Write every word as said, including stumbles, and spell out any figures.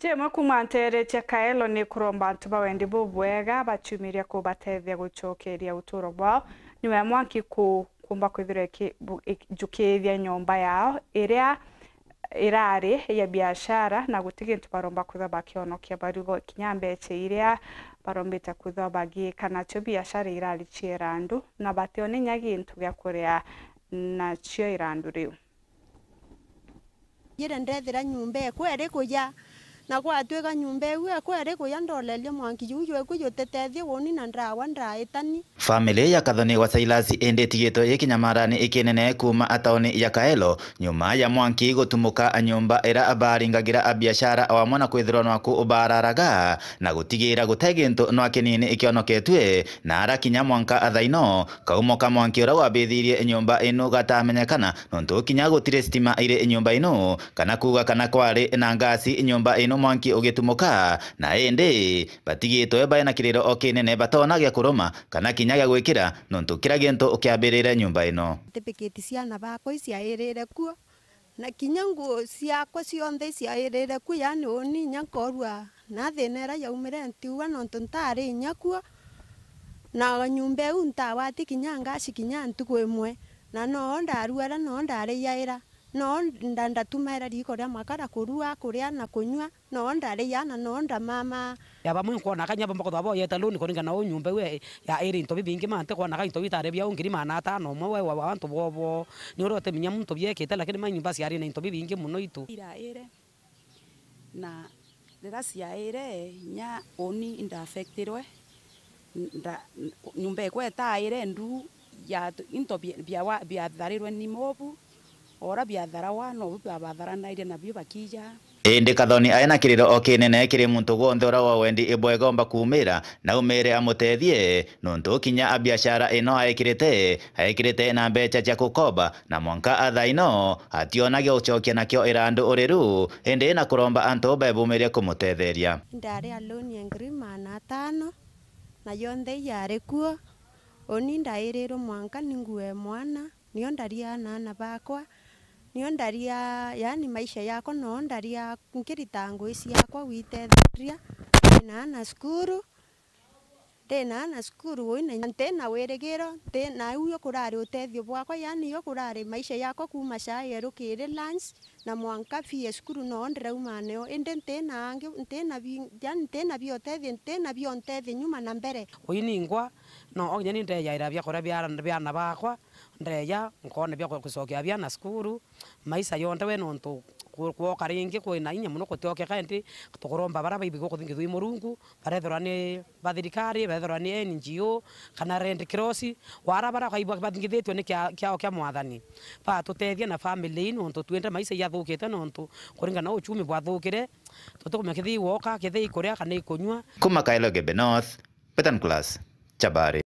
Jemwe kuuma nteere cia Kaelo ni kuromba antu ba wendi bubwega baciumiria kubatethia gucokeria uturo bwao nyuma ya mwanki ku-, kuumba kwithirwa iki-, bu-, ik-, njukiithia nyomba yao iria irari ya biashara, na guti gintu baromba kwithirwa bakionokia barigo kinya mbecha iria barombite kwithirwa bagiika nacio biashara irari cia irandu, na batione inya gintu gia kuria nacio irandu riu. Njire ndethira nyomba ekwa iri kuya, na gwatwika nyomba iu ekwa iri kuya, ndoleria mwanki juu jwekwa jutitethia uuni na ndawa ndaitani. Family ya Kathoni wa Silas indi itigitwe ikinyamarani ikinene kuuma a tauni ya Kaelo, nyuma ya mwanki gutumuka nyomba ira baringagira a biashara o amwe na kwithirwa nwaku ubararaga, na gutigira gute gintu nwa kinini ikionoketue, na ara kinya mwanka a thaino, kaumo ka mwanki ura wabithirie nyomba ino gatamenyekana, nontu kinya gutiri stima iri nyomba ino, kana kuuga kana kwari na ngasi nyomba ino mwanki ugitumuka, na indi batigitwe baina kiriro o kinene, batona gia kuruma kana kinya gia gwikira, nontu kira gintu kiambirire nyomba ino. Certificate ciana bakwa iciairire kuo, na kinya nguo ciakwa cionthe iciairire kuo, yaani uuni inya nkorua na thina ira yaumire ntiuga, nontu ntari inya kuo, na nyomba iu ntagwati kinya ngasi kinya ntuku imwe, na noo ndaruara, noo ndariaira, noo nda-, ndatumaira riiko ria makara kurua, kuria na kunyua. Noo ndariaa na noo ndamama. Ya bamwe nkwona ka inya bamwe kwithirwa boyete loan kuringana na uu nyomba iu ya iri into bibingi, ma ntikwona ka into bitari bia uu ngiri magana atano umwe we wa, wa antu bobo. Ni uria utiminya muntu biekite, lakini ma nyomba ciari na into bibingi mono itu. Iraire, na riria ciaire, inya uni inda affectirwe, nda-, nyomba ikwa itaire ndu ya into bia, bia wa, biatharirwe ni mobu. Ora biatharawa, nobu biabatharanairie nabio bakija. Indi Kathoni ai na kiriro o kinene kiri muntu gwonthe uria wa wendi ibwega omba kuumira, na aumire amutethie, nontu kinya a biashara ino aikirite, aikirite na mbecha cia gukomba, na mwanka a thaino ationagia gucokia nakio irandu uriru, indi na kuromba antu bebumirie kumutetheria. Ndari a loan ya ngiri magana atano, na yonthe yari kuo, uni ndairirwe mwanka ni nguo ya mwana. Nio ndaria na aana bakwa, nio ndaria, yaani maisha yakwa noo ndaria nkirita ngugi ciakwa gwitethiria. Ndi na aana cukuru, ndi na aana cukuru uu, na nti na wirigiro, nti na, iu kurari utethio bwakwa, yaani iyo kurari maisha yakwa kuuma caa yeru kiri lunch, na mwanka fee ya cukuru noo ndirauma nayo, indi nti na angi, nti na bi-, yaani nti na bia utethia, nti na bia untethia nyuma na mbere. Uu ningwa, no, kinya ni ndeyaira biakuria bia, bia aana bakwa, ndeya, nkoona bia ku-, gucokia biana cukuru, maisha yonthe we nontu ku-, kwoka ringi kwina inya mono gutiokeka, indi tukuromba baria baibi guku thingi twi Murungu, barethirwa ni ba thirikari, barethirwa ni N G O, kana Red Cross, wara baria baibi bathingithitue ni kia-, kiao kia Mwathani, batutethie na family ii, nontu twinde maisha ijathukite, nontu kuringana na uchumi bwathukire, tutikumenya kethii gwoka, kethii ikuria kana ikunyua. Kuma Kaelo Igembe North, Betan Class, Chabari.